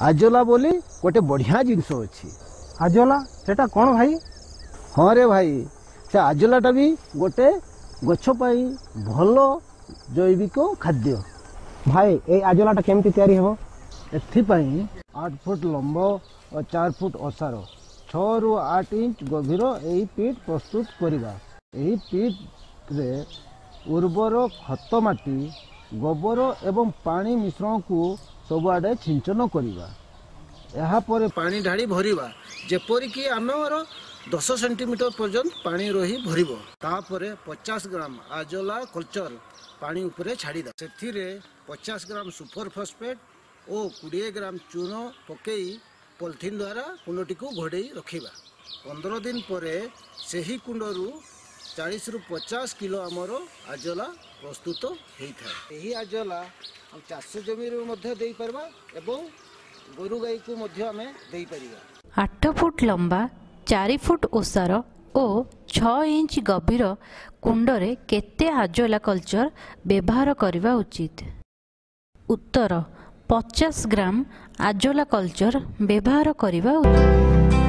Azolla ବୋଲି ଗୋଟେ ବଢ଼ିଆ ଜିନିଷ ଅଛି। ଆଜୋଲା, ସେଟା କ'ଣ ଭାଇ? ହଁ ରେ ଭାଇ, ସେ ଆଜୋଲାଟା ବି ଗୋଟେ ଗଛ ପାଇଁ ଭଲ ଜୈବିକ ଖାଦ୍ୟ। ଭାଇ, ଏଇ ଆଜୋଲାଟା କେମିତି ତିଆରି ହେବ? ଏଥିପାଇଁ 8 ଫୁଟ ଲମ୍ବ ଓ 4 ଫୁଟ ଓସାର, 6ରୁ 8 ଇଞ୍ଚ ଗଭୀର ଏହି ପିଟ୍ ପ୍ରସ୍ତୁତ କରିବା। ଏହି ପିଟ୍ରେ ଉର୍ବର ଖତ ମାଟି, ଗୋବର ଏବଂ ପାଣି ମିଶ୍ରଣକୁ ସବୁଆଡ଼େ ଛିଞ୍ଚନ କରିବା। ଏହାପରେ ପାଣି ଢାଳି ଭରିବା, ଯେପରିକି ଆମର 10 ସେଣ୍ଟିମିଟର ପର୍ଯ୍ୟନ୍ତ ପାଣି ରହି ଭରିବ। ତାପରେ 50 ଗ୍ରାମ ଆଜୋଲା କଲଚର ପାଣି ଉପରେ ଛାଡ଼ିଦେବା। ସେଥିରେ 50 ଗ୍ରାମ ସୁପର ଫସ୍ଫେଟ୍ ଓ 20 ଗ୍ରାମ ଚୂନ ପକାଇ ପଲିଥିନ୍ ଦ୍ୱାରା କୁଣ୍ଡଟିକୁ ଘୋଡ଼େଇ ରଖିବା। 15 ଦିନ ପରେ ସେହି କୁଣ୍ଡରୁ 40ରୁ 50 କିଲୋ ଆମର ଆଜୋଲା ପ୍ରସ୍ତୁତ ହେଇଥାଏ। ଏହି ଆଜୋଲା ଚାଷ ଜମିରେ ମଧ୍ୟ ଦେଇପାରିବା ଏବଂ ଗୋରୁ ଗାଈକୁ ମଧ୍ୟ ଆମେ ଦେଇପାରିବା। 8 ଫୁଟ ଲମ୍ବା, 4 ଫୁଟ ଓସାର ଓ 6 ଇଞ୍ଚ ଗଭୀର କୁଣ୍ଡରେ କେତେ ଆଜୋଲା କଲଚର ବ୍ୟବହାର କରିବା ଉଚିତ? ଉତ୍ତର, 50 ଗ୍ରାମ ଆଜୋଲା କଲଚର ବ୍ୟବହାର କରିବା ଉଚିତ।